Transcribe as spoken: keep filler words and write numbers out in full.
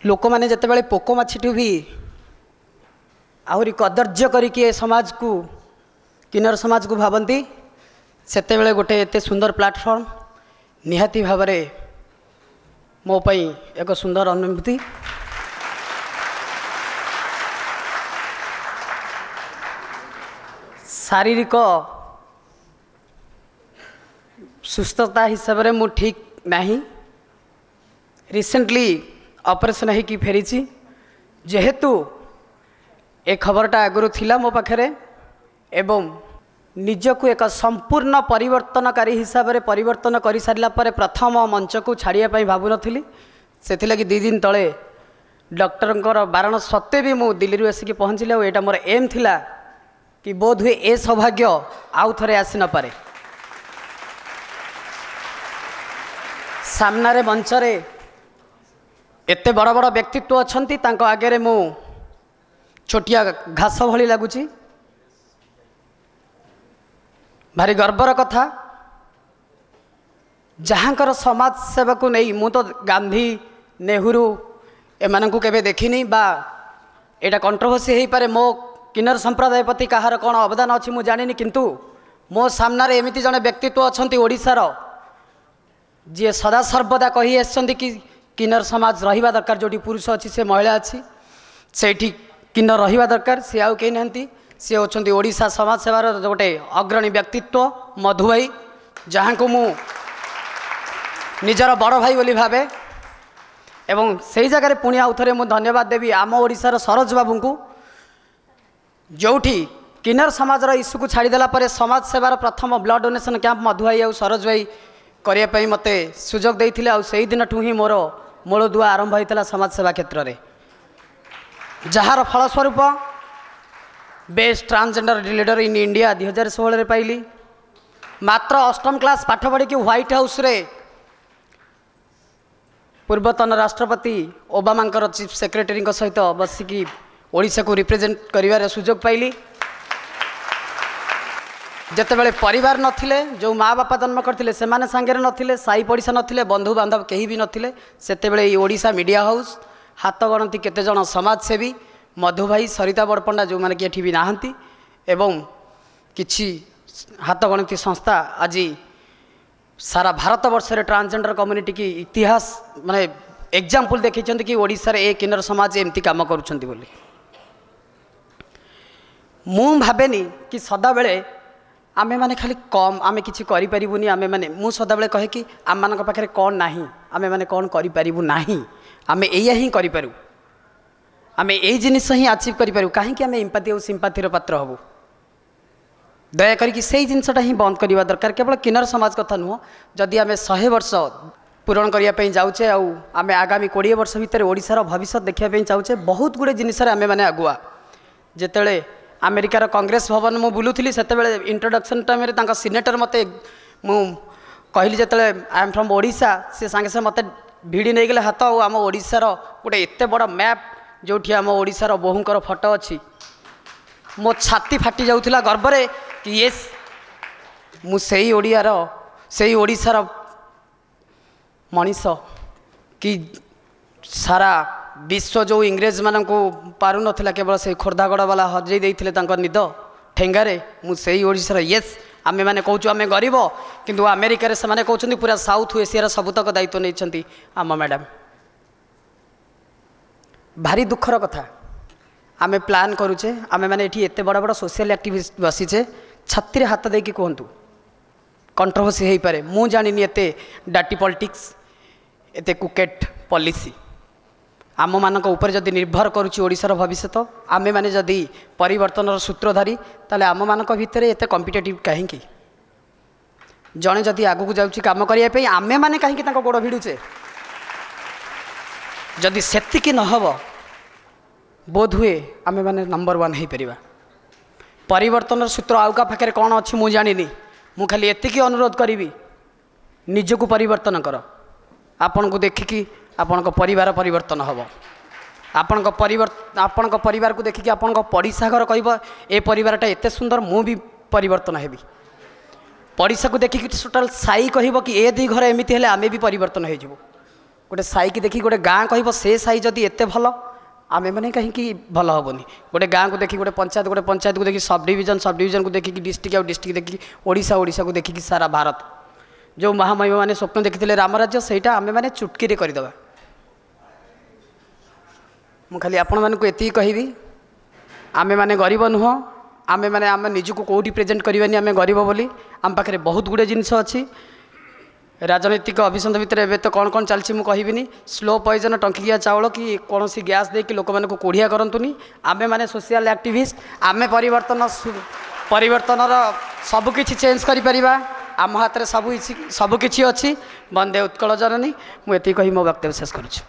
ଲୋକମାନେ ଯେତେବେଳେ ପୋକ ମାଛିଠୁ ବି ଆହୁରି କଦର୍ଯ୍ୟ କରିକି ଏ ସମାଜକୁ କିନ୍ନର ସମାଜକୁ ଭାବନ୍ତି ସେତେବେଳେ ଗୋଟେ ଏତେ ସୁନ୍ଦର ପ୍ଲାଟଫର୍ମ ନିହାତି ଭାବରେ ମୋ ପାଇଁ ଏକ ସୁନ୍ଦର ଅନୁଭୂତି ଶାରୀରିକ ସୁସ୍ଥତା ହିସାବରେ ମୁଁ ଠିକ୍ ନାହିଁ ରିସେଣ୍ଟଲି ଅପରେସନ୍ ହେଇକି ଫେରିଛି ଯେହେତୁ ଏ ଖବରଟା ଆଗରୁ ଥିଲା ମୋ ପାଖରେ ଏବଂ ନିଜକୁ ଏକ ସମ୍ପୂର୍ଣ୍ଣ ପରିବର୍ତ୍ତନକାରୀ ହିସାବରେ ପରିବର୍ତ୍ତନ କରିସାରିଲା ପରେ ପ୍ରଥମ ମଞ୍ଚକୁ ଛାଡ଼ିବା ପାଇଁ ଭାବୁନଥିଲି ସେଥିଲାଗି ଦୁଇ ଦିନ ତଳେ ଡକ୍ଟରଙ୍କର ବାରଣ ସତ୍ତ୍ୱେ ବି ମୁଁ ଦିଲ୍ଲୀରୁ ଆସିକି ପହଞ୍ଚିଲି ଆଉ ଏଇଟା ମୋର ଏମ୍ ଥିଲା କି ବୋଧହୁଏ ଏ ସୌଭାଗ୍ୟ ଆଉ ଥରେ ଆସି ନପାରେ ସାମ୍ନାରେ ମଞ୍ଚରେ ଏତେ ବଡ଼ ବଡ଼ ବ୍ୟକ୍ତିତ୍ୱ ଅଛନ୍ତି ତାଙ୍କ ଆଗରେ ମୁଁ ଛୋଟିଆ ଘାସ ଭଳି ଲାଗୁଛି ଭାରି ଗର୍ବର କଥା ଯାହାଙ୍କର ସମାଜ ସେବାକୁ ନେଇ ମୁଁ ତ ଗାନ୍ଧୀ ନେହେରୁ ଏମାନଙ୍କୁ କେବେ ଦେଖିନି ବା ଏଇଟା କଣ୍ଟ୍ରୋଭର୍ସି ହେଇପାରେ ମୋ କିନ୍ନର ସମ୍ପ୍ରଦାୟ ପ୍ରତି କାହାର କ'ଣ ଅବଦାନ ଅଛି ମୁଁ ଜାଣିନି କିନ୍ତୁ ମୋ ସାମ୍ନାରେ ଏମିତି ଜଣେ ବ୍ୟକ୍ତିତ୍ୱ ଅଛନ୍ତି ଓଡ଼ିଶାର ଯିଏ ସଦାସର୍ବଦା କହି ଆସିଛନ୍ତି କି କିନ୍ନର ସମାଜ ରହିବା ଦରକାର ଯେଉଁଠି ପୁରୁଷ ଅଛି ସେ ମହିଳା ଅଛି ସେଇଠି କିନ୍ନର ରହିବା ଦରକାର ସେ ଆଉ କେହି ନାହାନ୍ତି ସେ ହେଉଛନ୍ତି ଓଡ଼ିଶା ସମାଜ ସେବାର ଗୋଟେ ଅଗ୍ରଣୀ ବ୍ୟକ୍ତିତ୍ୱ ମଧୁ ଭାଇ ଯାହାଙ୍କୁ ମୁଁ ନିଜର ବଡ଼ ଭାଇ ବୋଲି ଭାବେ ଏବଂ ସେଇ ଜାଗାରେ ପୁଣି ଆଉ ଥରେ ମୁଁ ଧନ୍ୟବାଦ ଦେବି ଆମ ଓଡ଼ିଶାର ସରୋଜ ବାବୁଙ୍କୁ ଯେଉଁଠି କିନ୍ନର ସମାଜର ଇସ୍ୟୁକୁ ଛାଡ଼ିଦେଲା ପରେ ସମାଜ ସେବାର ପ୍ରଥମ ବ୍ଲଡ଼ ଡୋନେସନ୍ କ୍ୟାମ୍ପ ମଧୁ ଭାଇ ଆଉ ସରୋଜ ଭାଇ କରିବା ପାଇଁ ମୋତେ ସୁଯୋଗ ଦେଇଥିଲେ ଆଉ ସେଇ ଦିନଠୁ ହିଁ ମୋର ମୂଳଦୁଆ ଆରମ୍ଭ ହୋଇଥିଲା ସମାଜ ସେବା କ୍ଷେତ୍ରରେ ଯାହାର ଫଳସ୍ୱରୂପ best transgender leader in India ଦୁଇ ହଜାର ଷୋହଳରେ ପାଇଲି ମାତ୍ର ଅଷ୍ଟମ କ୍ଲାସ୍ ପାଠ ପଢ଼ିକି ହ୍ୱାଇଟ୍ ହାଉସ୍ରେ ପୂର୍ବତନ ରାଷ୍ଟ୍ରପତି ଓବାମାଙ୍କର ଚିଫ୍ ସେକ୍ରେଟାରୀଙ୍କ ସହିତ ବସିକି ଓଡ଼ିଶାକୁ ରିପ୍ରେଜେଣ୍ଟ କରିବାର ସୁଯୋଗ ପାଇଲି ଯେତେବେଳେ ପରିବାର ନଥିଲେ ଯେଉଁ ମା ବାପା ଜନ୍ମ କରିଥିଲେ ସେମାନେ ସାଙ୍ଗରେ ନଥିଲେ ସାହି ପଡ଼ିଶା ନଥିଲେ ବନ୍ଧୁବାନ୍ଧବ କେହି ବି ନଥିଲେ ସେତେବେଳେ ଏଇ ଓଡ଼ିଶା ମିଡ଼ିଆ ହାଉସ୍ ହାତ ଗଣତି କେତେଜଣ ସମାଜସେବୀ ମଧୁ ଭାଇ ସରିତା ବଡ଼ପଣ୍ଡା ଯେଉଁମାନେ କି ଏଠି ବି ନାହାନ୍ତି ଏବଂ କିଛି ହାତ ଗଣତି ସଂସ୍ଥା ଆଜି ସାରା ଭାରତବର୍ଷରେ ଟ୍ରାନ୍ସଜେଣ୍ଡର କମ୍ୟୁନିଟିକି ଇତିହାସ ମାନେ ଏକ୍ଜାମ୍ପଲ୍ ଦେଖେଇଛନ୍ତି କି ଓଡ଼ିଶାରେ ଏ କିନ୍ନର ସମାଜ ଏମିତି କାମ କରୁଛନ୍ତି ବୋଲି ମୁଁ ଭାବେନି କି ସଦାବେଳେ ଆମେମାନେ ଖାଲି କମ୍ ଆମେ କିଛି କରିପାରିବୁନି ଆମେମାନେ ମୁଁ ସଦାବେଳେ କହେ କି ଆମମାନଙ୍କ ପାଖରେ କ'ଣ ନାହିଁ ଆମେମାନେ କ'ଣ କରିପାରିବୁ ନାହିଁ ଆମେ ଏଇଆ ହିଁ କରିପାରୁ ଆମେ ଏଇ ଜିନିଷ ହିଁ ଆଚିଭ୍ କରିପାରିବୁ କାହିଁକି ଆମେ ଇମ୍ପାଥି ଆଉ ସିମ୍ପାଥିର ପାତ୍ର ହେବୁ ଦୟା କରିକି ସେଇ ଜିନିଷଟା ହିଁ ବନ୍ଦ କରିବା ଦରକାର କେବଳ କିନ୍ନର ସମାଜ କଥା ନୁହଁ ଯଦି ଆମେ ଶହେ ବର୍ଷ ପୂରଣ କରିବା ପାଇଁ ଯାଉଛେ ଆଉ ଆମେ ଆଗାମୀ କୋଡ଼ିଏ ବର୍ଷ ଭିତରେ ଓଡ଼ିଶାର ଭବିଷ୍ୟତ ଦେଖିବା ପାଇଁ ଚାହୁଁଛେ ବହୁତ ଗୁଡ଼ିଏ ଜିନିଷରେ ଆମେମାନେ ଆଗୁଆ ଯେତେବେଳେ ଆମେରିକାର କଂଗ୍ରେସ ଭବନ ମୁଁ ବୁଲୁଥିଲି ସେତେବେଳେ ଇଣ୍ଟ୍ରୋଡକ୍ସନ୍ ଟାଇମ୍ରେ ତାଙ୍କ ସିନେଟର ମୋତେ ମୁଁ କହିଲି ଯେତେବେଳେ I am from Odisha ସେ ସାଙ୍ଗେ ସାଙ୍ଗେ ମୋତେ ଭିଡ଼ି ନେଇଗଲେ ହାତ ଆଉ ଆମ ଓଡ଼ିଶାର ଗୋଟେ ଏତେ ବଡ଼ ମ୍ୟାପ୍ ଯେଉଁଠି ଆମ ଓଡ଼ିଶାର ବୋହୂଙ୍କର ଫଟୋ ଅଛି ମୋ ଛାତି ଫାଟି ଯାଉଥିଲା ଗର୍ବରେ କି ୟେସ୍ ମୁଁ ସେଇ ଓଡ଼ିଆର ସେଇ ଓଡ଼ିଶାର ମଣିଷ କି ସାରା ବିଶ୍ୱ ଯେଉଁ ଇଂରେଜମାନଙ୍କୁ ପାରୁନଥିଲା କେବଳ ସେଇ ଖୋର୍ଦ୍ଧାଗଡ଼ ବାଲା ହଜେଇ ଦେଇଥିଲେ ତାଙ୍କ ନିଦ ଠେଙ୍ଗାରେ ମୁଁ ସେଇ ଓଡ଼ିଶାର ୟେସ୍ ଆମେମାନେ କହୁଛୁ ଆମେ ଗରିବ କିନ୍ତୁ ଆମେରିକାରେ ସେମାନେ କହୁଛନ୍ତି ପୁରା ସାଉଥ୍ ଏସିଆର ସବୁତକ ଦାୟିତ୍ୱ ନେଇଛନ୍ତି ଆମ ମ୍ୟାଡ଼ାମ୍ ଭାରି ଦୁଃଖର କଥା ଆମେ ପ୍ଲାନ୍ କରୁଛେ ଆମେମାନେ ଏଠି ଏତେ ବଡ଼ ବଡ଼ ସୋସିଆଲ ଆକ୍ଟିଭିଷ୍ଟ ବସିଛେ ଛାତିରେ ହାତ ଦେଇକି କୁହନ୍ତୁ କଣ୍ଟ୍ରୋଭର୍ସି ହେଇପାରେ ମୁଁ ଜାଣିନି ଏତେ ଡାଟି ପଲିଟିକ୍ସ ଏତେ କୁକେଟ୍ ପଲିସି ଆମମାନଙ୍କ ଉପରେ ଯଦି ନିର୍ଭର କରୁଛି ଓଡ଼ିଶାର ଭବିଷ୍ୟତ ଆମେମାନେ ଯଦି ପରିବର୍ତ୍ତନର ସୂତ୍ରଧାରୀ ତାହେଲେ ଆମମାନଙ୍କ ଭିତରେ ଏତେ କମ୍ପିଟେଟିଭ୍ କାହିଁକି ଜଣେ ଯଦି ଆଗକୁ ଯାଉଛି କାମ କରିବା ପାଇଁ ଆମେମାନେ କାହିଁକି ତାଙ୍କ ଗୋଡ଼ ଭିଡ଼ୁଛେ ଯଦି ସେତିକି ନ ହେବ ବୋଧହୁଏ ଆମେମାନେ ନମ୍ବର ୱାନ୍ ହେଇପାରିବା ପରିବର୍ତ୍ତନର ସୂତ୍ର ଆଉ କାହା ପାଖରେ କ'ଣ ଅଛି ମୁଁ ଜାଣିନି ମୁଁ ଖାଲି ଏତିକି ଅନୁରୋଧ କରିବି ନିଜକୁ ପରିବର୍ତ୍ତନ କର ଆପଣଙ୍କୁ ଦେଖିକି ଆପଣଙ୍କ ପରିବାର ପରିବର୍ତ୍ତନ ହେବ ଆପଣଙ୍କ ପରିବର୍ତ୍ତନ ଆପଣଙ୍କ ପରିବାରକୁ ଦେଖିକି ଆପଣଙ୍କ ପଡ଼ିଶା ଘର କହିବ ଏ ପରିବାରଟା ଏତେ ସୁନ୍ଦର ମୁଁ ବି ପରିବର୍ତ୍ତନ ହେବି ପଡ଼ିଶାକୁ ଦେଖିକି ଟୋଟାଲ୍ ସାହି କହିବ କି ଏ ଦୁଇ ଘର ଏମିତି ହେଲେ ଆମେ ବି ପରିବର୍ତ୍ତନ ହେଇଯିବୁ ଗୋଟେ ସାହିକି ଦେଖି ଗୋଟେ ଗାଁ କହିବ ସେ ସାହି ଯଦି ଏତେ ଭଲ ଆମେମାନେ କାହିଁକି ଭଲ ହେବନି ଗୋଟେ ଗାଁକୁ ଦେଖି ଗୋଟେ ପଞ୍ଚାୟତ ଗୋଟେ ପଞ୍ଚାୟତକୁ ଦେଖି ସବ୍ ଡିଭିଜନ୍ ସବ୍ ଡିଭିଜନ୍କୁ ଦେଖିକି ଡିଷ୍ଟ୍ରିକ୍ଟ ଆଉ ଡିଷ୍ଟ୍ରିକ୍ଟ ଦେଖିକି ଓଡ଼ିଶା ଓଡ଼ିଶାକୁ ଦେଖିକି ସାରା ଭାରତ ଯେଉଁ ମହାମହିମମାନେ ସ୍ୱପ୍ନ ଦେଖିଥିଲେ ରାମରାଜ୍ୟ ସେଇଟା ଆମେମାନେ ଚୁଟକିରେ କରିଦେବା ମୁଁ ଖାଲି ଆପଣମାନଙ୍କୁ ଏତିକି କହିବି ଆମେମାନେ ଗରିବ ନୁହଁ ଆମେମାନେ ଆମେ ନିଜକୁ କେଉଁଠି ପ୍ରେଜେଣ୍ଟ କରିବାନି ଆମେ ଗରିବ ବୋଲି ଆମ ପାଖରେ ବହୁତ ଗୁଡ଼ିଏ ଜିନିଷ ଅଛି ରାଜନୈତିକ ଅଭିସନ୍ଧି ଭିତରେ ଏବେ ତ କ'ଣ କ'ଣ ଚାଲିଛି ମୁଁ କହିବିନି ସ୍ଲୋ ପଏଜନ୍ ଟଙ୍କିକିଆ ଚାଉଳ କି କୌଣସି ଗ୍ୟାସ୍ ଦେଇକି ଲୋକମାନଙ୍କୁ କୋଢ଼ିଆ କରନ୍ତୁନି ଆମେମାନେ ସୋସିଆଲ ଆକ୍ଟିଭିଷ୍ଟ ଆମେ ପରିବର୍ତ୍ତନ ପରିବର୍ତ୍ତନର ସବୁକିଛି ଚେଞ୍ଜ କରିପାରିବା ଆମ ହାତରେ ସବୁ କିଛି ସବୁକିଛି ଅଛି ବନ୍ଦେ ଉତ୍କଳ ଜନନୀ ମୁଁ ଏତିକି କହି ମୋ ବକ୍ତବ୍ୟ ଶେଷ କରୁଛି।